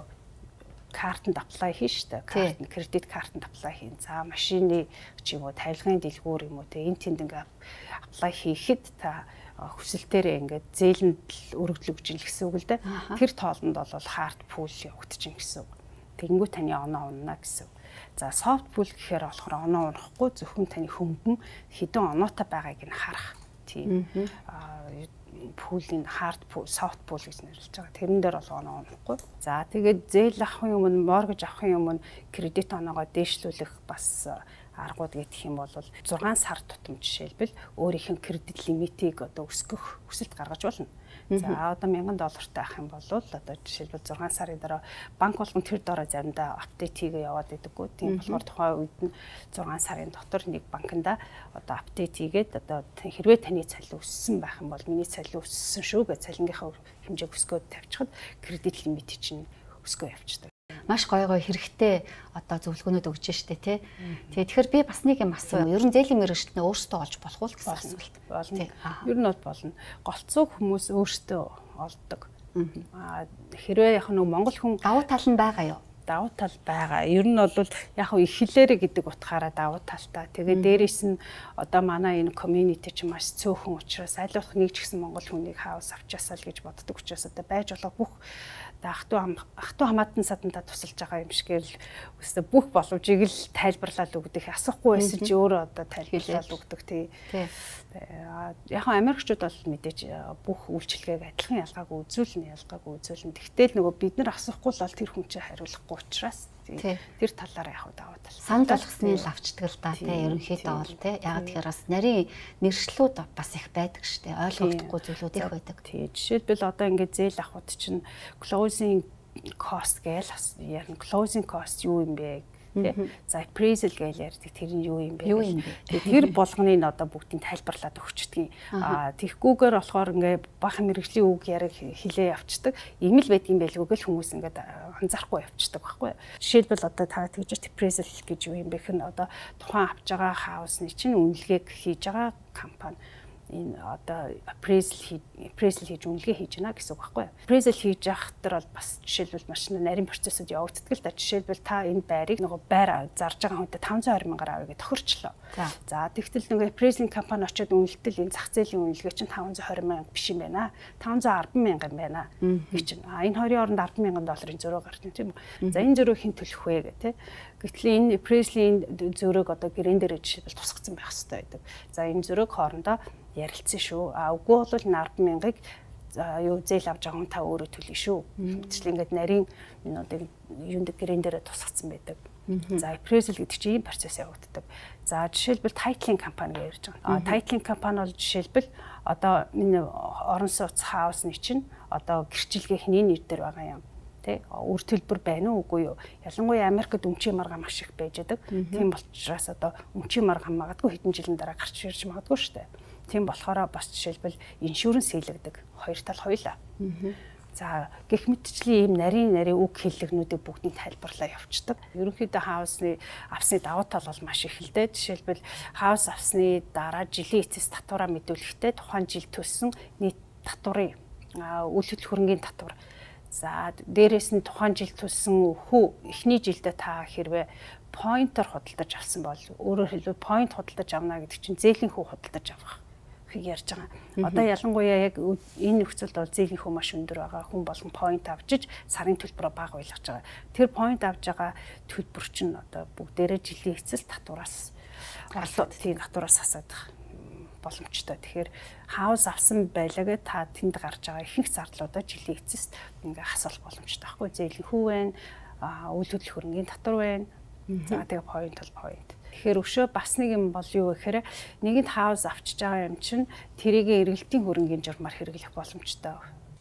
картанд apply хийн штэ. Карт нь кредит картанд apply хийн. За машины ч юм уу тавилгын дэлгүүр юм уу те энэ тэнд ингээ apply хийхэд та хүсэлтээрээ ингээд зээлэнд өргөдлөг гэж хэлсэн үг л дээ. Тэр тоолонд бол hard pool явагдаж гин гэсэн үг. Тэгэнгүүт таны оноо унана гэсэн үг. За soft pool гэхээр болохоор оноо унахгүй зөвхөн таны хөнгөн хэдэн оноотой байгааг нь харах. Тийм. Пуулийн hard pool, soft pool гэж нэрлэж байгаа. Тэрэн дээр бол оноо унахгүй. За тэгээд зээл авахын өмнө, mortgage авахын өмнө кредит оноогоо дээшлүүлэх бас аргууд гэх юм бол 6 сар тутам жишээлбэл өөрийнх нь кредит лимитийг одоо өсгөх хүсэлт гаргаж болно. За одоо $1000 таах юм бол одоо жишээлбэл 6 сарын дараа банк болгон тэр дороо заримдаа апдейт хийгээ яваад байдаггүй. Тийм болохоор тухайн үед нь 6 сарын дотор нэг банкнда одоо апдейт хийгээд одоо хэрвээ таны цалин өссөн байх юм бол миний цалин өссөн шүү гэж цалингийнхаа хэмжээг өсгөөд тавьчихад кредит лимит чинь өсгөө явчихдаг. Маш гоё хэрэгтэй одоо зөвлөгөөнүүд өгч штэ тий. Тэгэхээр би бас нэг юм асуу. Ер нь зээлийн мэргэжлтнээ өөрсдөө олж болох уу гэсэн асуулт. Болно. Ер нь бол болно. Голцоо хүмүүс өөрсдөө олдог. Хэрвээ яг нэг монгол хүн давуу тал нь байгаа юу? Давуу тал байгаа. Ер нь бол яг их хэлээрэ гэдэг утгаараа давуу талтай. Тэгээд дээрээс нь одоо манай энэ community ч маш цөөхөн учраас аль болох нэг ч гэсэн монгол хүнийг хаус авчаасаа л гэж боддог учраас одоо байж болох бүх ах トゥ хамаатан садантаа тусалж байгаа юм шигээр л өстө бүх боломжийг л тайлбарлаад өгдөг. Асахгүй байсан чи өөрөө одоо тайлбарлаад өгдөг тий. Яг Америкчууд бол мэдээж бүх үйлчлэгийг адилхан ялгаагүй үзүүлнэ. Тэгтэл нөгөө бид нар асахгүй л тэр хүн чинь хариулахгүй учраас тэр талаараа яг даваа тал. Санал болгосны л авчдаг л да тий. Ерөнхийдөө бол тий. Яг тэгэхээр бас нарийн нэршлүүд бас их байдаг штэ. Ойлгогдохгүй зүйлүүд их байдаг. Тий. Жишээлбэл одоо ингээд зээл авахд чинь closing cost гээл ярина. Closing cost юу юм бэ? За appraisal гэж ярьдаг тэр нь юу юм бэ? Тэр болгоныг одоо бүгдийг тайлбарлаад өгчдөг. Тэгхгүйгээр болохоор ингээ бахан мэрэгжлийн үг яриг хилээ явцдаг. Ийм л байдгийн байлгүй гэл хүмүүс ингээд анзаарахгүй явцдаг байхгүй. Жишээлбэл одоо та тэгж appraisal гэж юу юм бэ гэхээр одоо тухайн авч байгаа хаусны чинь үнэлгээг хийж байгаа компани энэ одоо appraisal хийж үнэлгээ хийж байна гэсэн үг байхгүй юу. Appraisal хийж явах төр бол бас жишээлбэл маш нарийн процессыг явагддаг л да. Жишээлбэл та энэ байрыг нөгөө байр зарж байгаа хүнтэй 520,000-аар авъя гэж тохирчлоо. За тэгтэл нөгөө appraisal компани очиод үнэлтэл энэ зах зээлийн үнэлгээ чинь 520,000 биш юм байна. 510,000 юм байна гэж чинь. Энэ хоёрын оронд $10,000 зөрөө гарсан тийм үү. За энэ зөрөө хэн төлөх вэ гэх тээ. Гэтэл энэ appraisal-ийн зөрөөг одоо гэрэн дээр жишээлбэл тусгацсан байх хэрэгтэй байдаг. За энэ зөрөөг хоорондоо ярилцсан шүү. Үгүй бол 10,000-ыг юу зээл авч байгаа хүн та өөрөө төлнө шүү. Гэвч ингээд нарийн минутыг юунд гэрэн дээр тусгацсан байдаг. За appraisal гэдэг чинь ийм процесс явагддаг. За жишээлбэл titling компани гэж ярьж байгаа. Titling компани бол жишээлбэл одоо миний орон сууц хаусны чинь одоо гэрчлэгээ хний нэр дээр байгаа юм. Тэ үр төлбөр байна уу үгүй юу? Ялангуяа Америкт өмчийн маргаа маш их байж байдаг. Тийм учраас одоо өмчийн маргаа магадгүй хэдэн жилийн дараа гарч ирж магадгүй шүү дээ. Тийм болохоор бас жишээлбэл иншүрэнс хийлэгдэг. Хоёр тал хоёлаа. За гэх мэтчлийн ийм нарийн үг хэллэгнүүдийг бүгдийг тайлбарлаа явуулдаг. Ерөнхийдөө хаусны авсны давуу тал бол маш их л дээ. Жишээлбэл хаус авсны дараа жилийн эцэс татвараа мэдүүлэхдээ тухайн жил төлсөн нийт татварын үйл хөдлөх хөрөнгийн татвар. За дээрээс нь тухайн жил төлсөн эхний жилдээ та хэрвээ поинтер худалдаж авсан бол өөрөөр хэлбэл поинт худалдаж авна гэдэг чинь зээлийн хүү худалдаж авах ярьж байгаа. Одоо ялангуяа яг энэ нөхцөлд бол зээлийн хүү маш өндөр байгаа. Хүн болгон поинт авчиж сарын төлбөрөө бага байлгаж байгаа. Тэр поинт авж байгаа төлбөр чинь одоо бүгдээрээ жилийн эцэс татвараас тийм татвараас хасаад боломжтой. Тэгэхээр хаус авсан байлаагээ та тэнд гарч байгаа ихэнх зарлуудаа жилийн эцэст ингээ хасах боломжтой байхгүй. Зээлийн хүү байна, үйл хөдлөх хөрөнгийн татвар байна. За тэгээ поинт бол поинт. Тэгэхээр өшөө бас нэг юм бол юу гэхээр нэгэнд хаус авчиж байгаа юм чинь тэрийг эргэлтийн хөрөнгийн журмаар хэрэглэх боломжтой.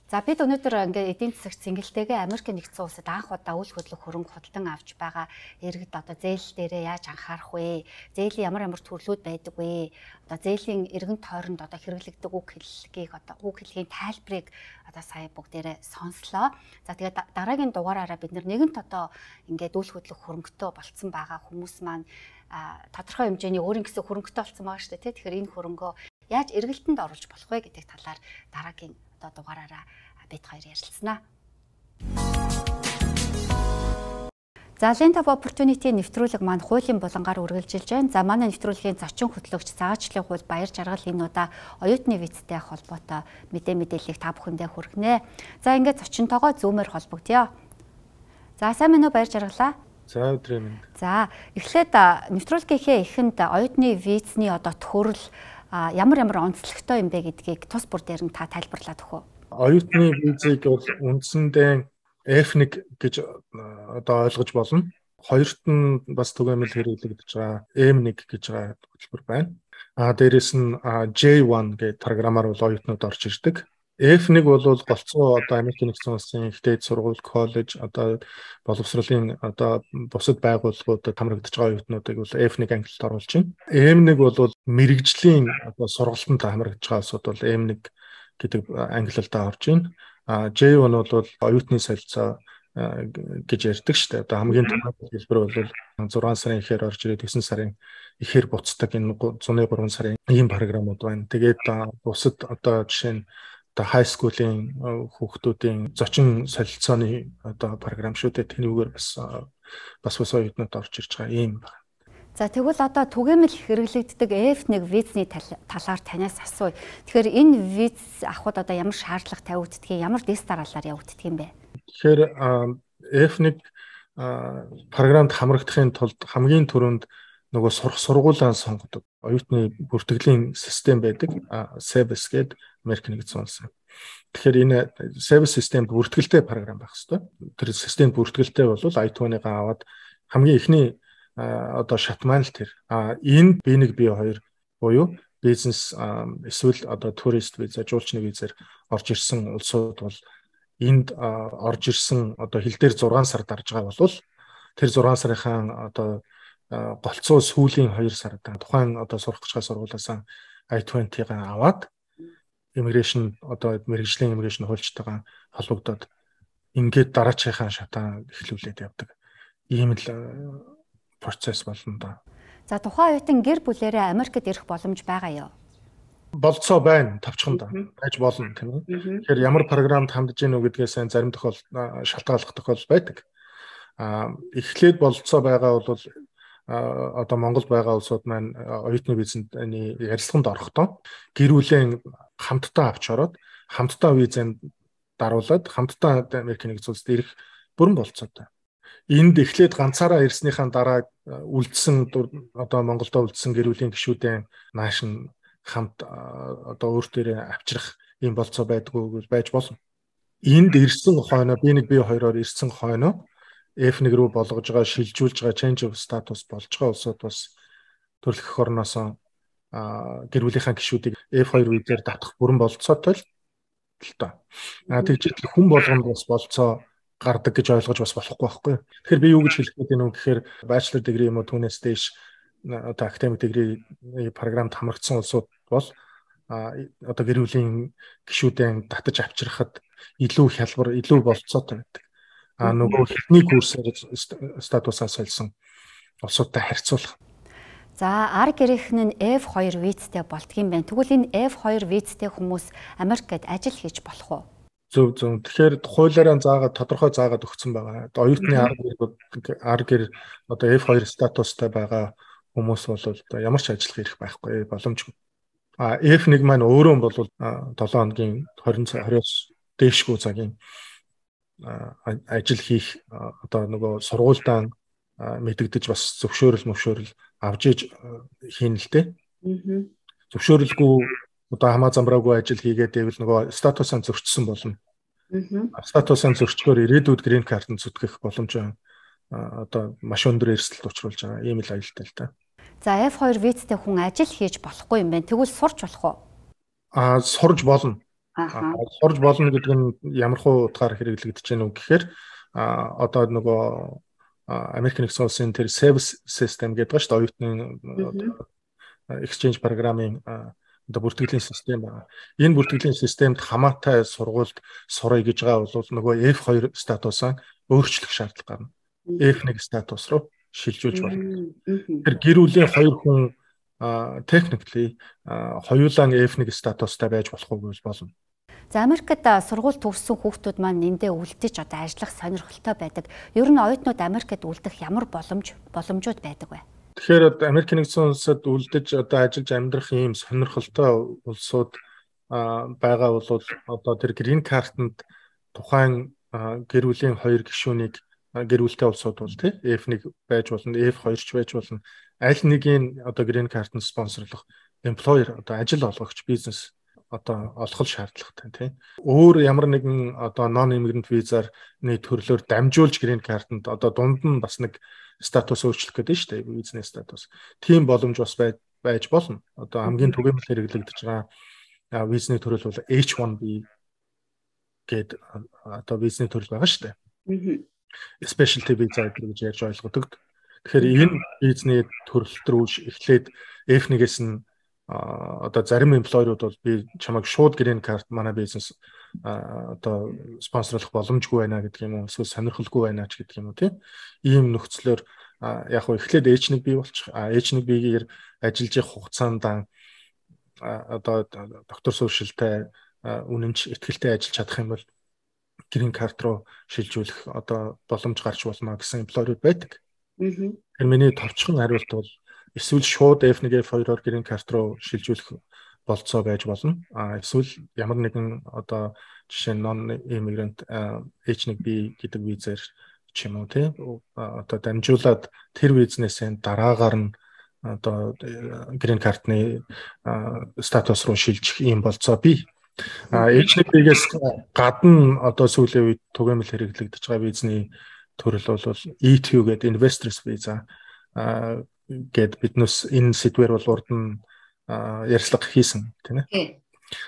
За бид өнөөдөр ингээд эдийн засагт цэнгэлтэйгээ Америк нэгдсэн улсад анх удаа үйл хөдлөх хөрөнгө худалдан авч байгаа иргэд одоо зээл дээрээ яаж анхаарах вэ? Зээлийн ямар төрлүүд байдаг вэ? Одоо зээлийн эргэн тойронд одоо хэрэглэгдэг үг хэллэгийн тайлбарыг одоо сая бүгдээрээ сонслоо. За тэгээд дараагийн дугаараараа бид нэгэнт одоо ингээд үйл хөдлөх хөрөнгөтэй болцсон байгаа хүмүүс маань тодорхой хэмжээний өөрийн гэсэн хөрөнгөтэй болцсон байгаа шүү дээ. Тэгэхээр энэ хөрөнгөө яаж эргэлтэнд оруулж болох вэ гэдэг талаар дараагийн одоо дугаараараа бид хоёр ярилцсанаа. За Lent of Opportunity нэвтрүүлэг маань хуулийн булангаар үргэлжилж байна. За манай нэвтрүүлгийн зочин хөтлөгч Цагаачлалын хууль Баяр Жаргал энэ удаа оюутны визтэй холбоотой мэдээллийг та бүхэндээ хүргэнэ. За ингээд зочинтойгоо зүүмээр холбогдъё. За сайн минь уу Баяр Жаргалаа? За өдрийн минь. За эхлээд нэвтрүүлгийнхээ эхэнд оюутны визний одоо төхөөрөл ямар онцлогтой юм бэ гэдгийг тус бүр дээр нь та тайлбарлаад өгөө. Оюутны визийг бол үндсэндээ F1 гэж одоо ойлгож болно. Хоёрт нь бас түгээмэл хэрэглэгдэж байгаа M1 гэж байгаа хөтөлбөр байна. Дээрээс нь J1 гэдэг програмаар бол оюутнууд орж ирдэг. F1 бол голцоо одоо Америк нэгдсэн улсын их дээд сургууль, коллеж, одоо боловсролын одоо бусад байгууллагуудад хамрагдаж байгаа оюутнуудыг бол F1 ангилалд оруулж байна. M1 бол мэрэгжлийн одоо сургалтанд хамрагдаж байгаа улсууд бол M1 гэдэг ангилалдаа орж байна. J1 бол оюутны солилцоо гэж ярьдаг шүү дээ. Одоо хамгийн түрүүнд хэлбэр бол 6 сарын ихээр орж ирээд 9 сарын ихээр буцдаг энэ 103 сарын ийм програмууд байна. Тэгээд бусад одоо жишээ нь high school-ийн хүүхдүүдийн зочин солилцооны одоо програм шүү дээ. Тэнүүгээр бас оюутнууд орж ирж байгаа юм байна. За тэгвэл одоо түгээмэл хэрэглэгддэг F1 визний талаар танаас асууя. Тэгэхээр энэ виз авахд одоо ямар шаардлага тавигддгийг, ямар тест дараалал явагддаг юм бэ? Тэгэхээр F1 програмд хамрагдахын тулд хамгийн түрүүнд нөгөө сургуулаа сонгодог. Оюутны бүртгэлийн систем байдаг. SEBS гэдэг Америк нэгдсэн улс. Тэгэхээр энэ SEBS системд бүртгэлтэй програм байх хэрэгтэй. Тэр системд бүртгэлтэй бол I-20-гаа аваад хамгийн эхний одоо шат маань л тэр. Энд B1 B2 буюу бизнес эсвэл одоо турист виза, жуулчны визээр орж ирсэн улсууд бол энд орж ирсэн одоо хил дээр 6 сар дарж байгаа бол тэр 6 сарынхаа одоо голцоо сүүлийн 2 сард тухайн одоо сурах гэж байгаа сургуулиас I-20-гаа аваад immigration одоо мэргэжлийн immigration хуульчтайгаа холбогдоод ингээд дараачихын шатаа эхлүүлээд явдаг. Ийм л процесс болно да. За тухайн оюутан гэр бүлээрээ Америкт ирэх боломж байгаа юу? Болцоо байна, тавчхан да. Байж болно тийм үү? Тэгэхээр ямар програмд хандж гэнэ үү гэдгээс зарим тохиолдолд шалтгааллах тохиолдол байдаг. Эхлээд болцоо байгаа бол одоо Монголд байгаа улсууд маань оюутны визэнд ярилцлаганд орохдоо гэр бүлийн хамтдаа авч ороод хамтдаа визэнд даруулаад хамтдаа Америк нэгдсэн улсад ирэх бүрэн болцоотой. Энд эхлээд ганцаараа ирснийхаа дараа үлдсэн одоо Монголдо үлдсэн гэр бүлийн гишүүдийн нааш нь хамт одоо өөртөө авчрах ийм болцоо байдгүй байж болно. Энд ирсэн хойноо B1 B2-оор ирсэн хойноо F1 рүү болгож байгаа шилжүүлж байгаа change of status болж байгаа улсууд бас төрөлх эх орноос гэр бүлийнхаа гишүүдийг F2 визээр татах бүрэн болцоотой л тоо. Тэгж хүн болгонд бас болцоо гардаг гэж ойлгож бас болохгүй байхгүй. Тэгэхээр би юу гэж хэлэх гээд байна вэ гэхээр bachelor degree юм уу түүнээс дээш одоо academic degree програмд хамрагдсан улсууд бол одоо гэр бүлийн гишүүдэн татаж авчрахад илүү хялбар, илүү болцоотой байдаг. Нөгөө хэдний курсээр статусаа сольсон улсуудтай харьцуулах. За ар гэрийнхэн нь F2 визтэй болдгийм байна. Тэгвэл энэ F2 визтэй хүмүүс Америкт ажил хийж болох уу? Зөв. Тэгэхээр хуулиараа тодорхой заагаад өгсөн байгаа. Оюутны ар гэр одоо F2 статустай байгаа хүмүүс бол одоо ямар ч ажиллах ирэх байхгүй боломжгүй. F1 маань өөрөө бол 7 хоногийн 20-20-оос дээшгүй цагийн ажил хийх одоо нөгөө сургуультай мэдэгдэж бас зөвшөөрөл авж иж хийн л дээ. Зөвшөөрөлгүй одоо хамаа замбраагүй ажил хийгээд байвал нөгөө статусаа зөрчсөн болно. Статусаа зөрчгөөр ирээдүйд грин картанд зүтгэх боломж одоо маш өндөр эрсдэлд учруулж байгаа. Ийм л аюултай л та. За F2 визтэй хүн ажил хийж болохгүй юм байна. Тэгвэл сурч болох уу? Сурж болно. Сурж болно гэдэг нь ямар хуу утгаар хэрэглэгдэж байна вэ гэхээр одоо нөгөө American Express-ийн тэр service system гэдэг ба шүү дээ оюутны exchange програмын одоо бүртгэлийн систем байна. Энэ бүртгэлийн системд хамаатай сургуульд сурах гэж байгаа бол нөгөө F2 статусаа өөрчлөх шаардлага гарна. F1 статус руу шилжүүлж болно. Тэр гэр бүлийн 2 хүн technically хоёулаа F1 статустай байж болох уу гэж болно. За Америкт сургууль төгссөн хүүхдүүд маань эндээ үлдэж одоо ажиллах сонирхолтой байдаг. Ер нь оюутнууд Америкт үлдэх ямар боломжууд байдаг вэ? Тэгэхээр Америк нэгдсэн улсад үлдэж одоо ажиллаж амьдрах ийм сонирхолтой улсууд байгаа бол одоо тэр грин картанд тухайн гэр бүлийн 2 гишүүнийг гэр бүлтэй улсууд бол тий F1 байж болно, F2 ч байж болно. Аль нэгийг одоо грин картанд спонсорлох employer одоо ажил олгогч бизнес одоо олох шаардлагатай тий. Өөр ямар нэгэн одоо non immigrant визаар нэг төрлөөр дамжуулж грин картанд одоо дунд нь бас нэг статус өөрчлөх гэдэг нь шүү дээ. Визний статус. Тийм боломж бас байж болно. Одоо хамгийн түгээмэл хэрэглэгдэж байгаа визний төрөл бол H1B гэдэг одоо визний төрөл байгаа шүү дээ. Specialty visa гэж ярьж ойлгодог. Тэгэхээр энэ визний төрөлт рүү эхлээд F1-ээс нь одоо зарим эмплойерууд бол би чамайг шууд грин карт манай бизнес одоо спонсорлох боломжгүй байна гэдэг юм уу эсвэл сонирхолгүй байна ч гэдэг юм уу тийм ийм нөхцлөөр яг хөө эхлээд H1B болчих H1B-гээр ажиллаж явах хугацаанд одоо доктор сууршилтай үнэмч ихтгэлтэй ажиллаж чадах юм бол грин карт руу шилжүүлэх одоо боломж гарч болно гэсэн эмплойерууд байдаг. Тэгэхээр миний товчхон хариулт бол эсвэл шууд F1 F2-оор грин карт руу шилжүүлэх болцоо байж болно. Эсвэл ямар нэгэн одоо жишээ нь non immigrant H1B гэдэг визээр ч юм уу тий одоо дамжуулаад тэр визнесээ дараагаар нь одоо грин картны статус руу шилжих ийм болцоо бий. H1B-гээс гадна одоо сүүлийн үед түгээмэл хэрэглэгдэж байгаа визний төрөл бол E2 гэдэг investors visa гэд биднес энэ сэдвэр бол урд нь ярьцлага хийсэн тийм ээ.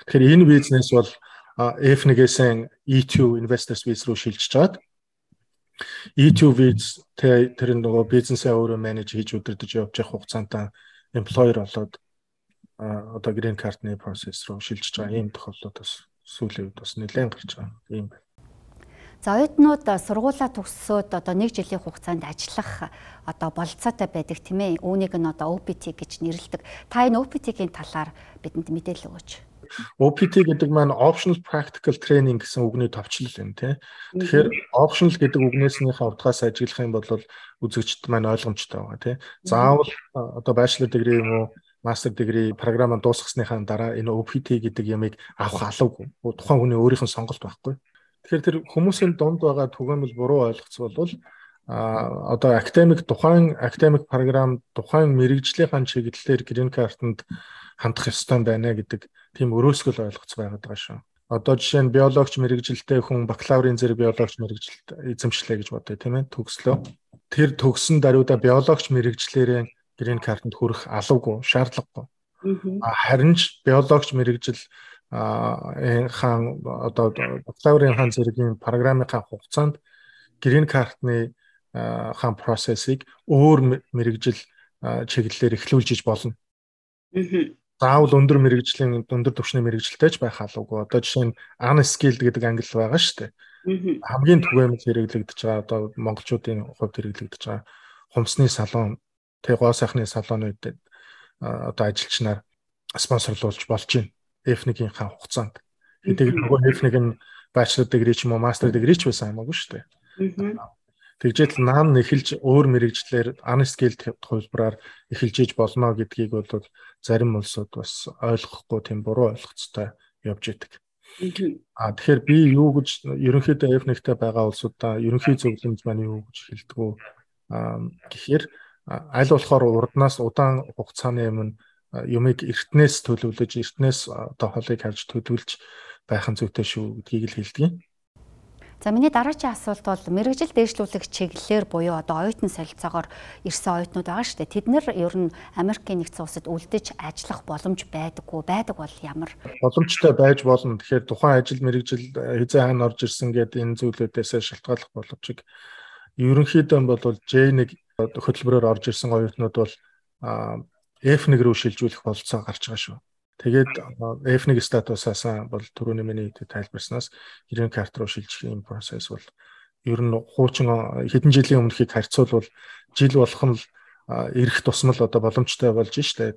Тэгэхээр энэ бизнес бол F1-ээс E2 investors visa руу шилжиж чад. E2 visa тэр нөгөө бизнесээ өөрөө менеж хийж удирдах явж явах хугацаанд employer болоод одоо green card-ны process руу шилжиж байгаа ийм тохиолдлууд бас сүүлийн үед бас нэлээд гарч байгаа юм байна. За оюутнууд сургуулаа төгссөөд одоо 1 жилийн хугацаанд ажиллах одоо болцоотой байдаг тийм ээ. Үүнийг нь одоо OPT гэж нэрлэдэг. Та энэ OPT-ийн талаар бидэнд мэдээлэл өгөөч. OPT гэдэг маань optional practical training гэсэн үгний товчлол юм тийм. Тэгэхээр optional гэдэг үгнээсийнхээ утгаас ажиглах юм бол үзэгчд маань ойлгомжтой байгаа тийм. Заавал одоо bachelor degree юм уу master degree програмаа дуусгасныхаа дараа энэ OPT гэдэг ямыг авах алавгүй. Тухайн хүний өөрийнх нь сонголт байхгүй. Тэгэхээр тэр хүмүүсийн дунд байгаа түгээмэл буруу ойлгоцол бол одоо тухайн академик програм тухайн мэрэгжлийнхэн чиглэлээр грин картанд хандах ёстой байна гэдэг тийм өрөөсгөл ойлгоц байгаад байгаа шүү. Одоо жишээ нь биологч мэрэгжилтэй хүн бакалаврын зэрэг биологч мэрэгжилт эзэмшлээ гэж бодъё тийм ээ төгслөө. Тэр төгсөн даруйда биологч мэрэгчлэрээ грин картанд хүрэх алавгүй, шаардлагагүй. Харин ч биологч мэрэгжил хаан одоо бакалаврын хаан зэргийн програмынхаа хугацаанд грин картны хаан процессыг өөр мэрэгжил чиглэлээр эхлүүлж иж болно. Заавал өндөр мэрэгжлийн өндөр түвшний мэрэгжилтэй ч байх халуугүй. Одоо жишээ нь unskilled гэдэг англи байгаа шүү дээ. Хамгийн түгээмэл хэрэглэгдэж байгаа одоо монголчуудын хувьд хэрэглэгдэж байгаа хумсны салон, гоо сайхны салонууд одоо ажилчнаар спонсорлуулж болж байна. F1-ийнхаа хугацаанд. Хэдийгээр нөгөө F1 нь bachelor degree ч юм уу master degree ч байсан хамаагүй шүү дээ. Тэгжэл наан эхэлж өөр мэрэгжлэр unskilled хувьбараар эхэлж иж болно гэдгийг бол зарим улсууд бас ойлгохгүй тийм буруу ойлгоцтой явж идэг. Тэгэхээр би юу гэж ерөнхийдөө F1-тэй байгаа улсуудаа ерөнхий зөвлөмж маань юу гэж хэлдэг вэ гэхээр аль болохоор урднаас удаан хугацааны өмнө юмыг эртнээс төлөвлөж эртнээс одоо холыг харж төлөвлөж байх нь зүйтэй шүү гэдгийг л хэлдэг. За миний дараагийн асуулт бол мэрэгжил дээшлүүлэх чиглэлээр буюу одоо оюутан солилцоогоор ирсэн оюутнууд байгаа шүү дээ. Тэд нэр ер нь Америкийн нэгдсэн улсад үлдэж ажиллах боломж байдаггүй. Байдаг бол ямар? Боломжтой байж болно. Тэгэхээр тухайн ажил мэрэгжил хязээ хаана орж ирсэн гэдэг энэ зүйлүүдээс шалтгааллах боломжийг ерөнхийдөө бол J1 хөтөлбөрөөр орж ирсэн оюутнууд бол F1 рүү шилжүүлэх болцоо гарч байгаа шүү. Тэгээд F1 статусаас бол түрүүний миний тайлбарснаас грин карт руу шилжих юм процесс бол ер нь хуучин хэдэн жилийн өмнөхийг харьцуулбал жил болгон л ирэх тусмал одоо боломжтой болж штэ.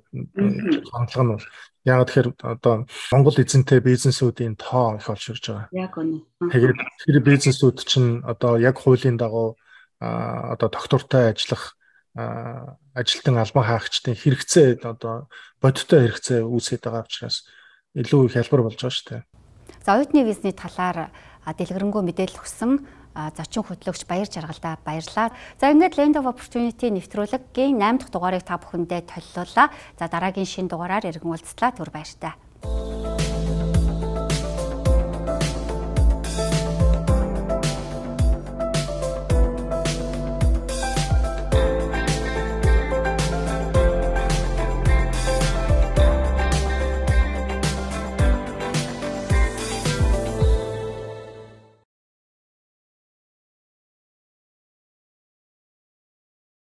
Хандлага нь бол яг тэгэхээр одоо Монгол эзэнтэй бизнесүүдийн тоо их олширж байгаа. Яг үнэ. Тэгээд тэр бизнесүүд чинь одоо яг хуулийн дагуу одоо доктортой ажиллах ажилтан албан хаагчдын хэрэгцээ одоо бодиттой хэрэгцээ үүсээд байгаа учраас илүү их хялбар болж байгаа шүү дээ. За оюутны визний талаар дэлгэрэнгүй мэдээлэл өгсөн зочин хөтлөгч Баяр Жаргалдаа баярлалаа. За ингээд Land of Opportunity нэвтрүүлгийн 8 дахь дугаарыг та бүхэндээ толлууллаа. За дараагийн шинэ дугаараар иргэн уулзлаа. Түр баяртай.